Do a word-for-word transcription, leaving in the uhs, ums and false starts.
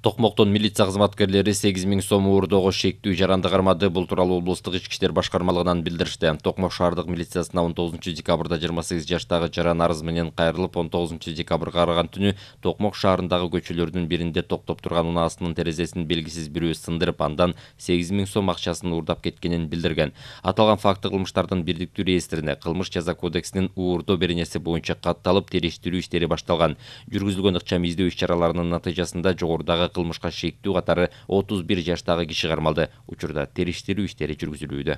Токмоктон милиция кызматкерлери сегиз миң сом уурдоого шектүү жаранды кармады. Бул тууралуу облустук ички иштер башкармалыгынан билдиришти. Токмок шаардык милициясына он тогузунчу декабрда жыйырма сегиз жаштагы жаран арыз менен кайрылып, он тогузунчу декабрга караган түнү Токмок шаарындагы көчөлөрдүн биринде токтоп турган унаасынын терезесин белгисиз бирөө сындырып, андан сегиз миң сом акчасын уурдап кеткенин билдирген. Аталган факты кылмыштардын бирдиктүү реестрине Кылмыш жаза кодексинин уурдоо беренеси боюнча катталып, териштирүү иштери башталган. Жүргүзүлгөн ыкчам издөө иш-чараларынын натыйжасында жогорудагы кылмышка шектүү катары отуз бир жаштагы киши кармалды. Учурда териштирүү иштери жүргүзүлүүдө.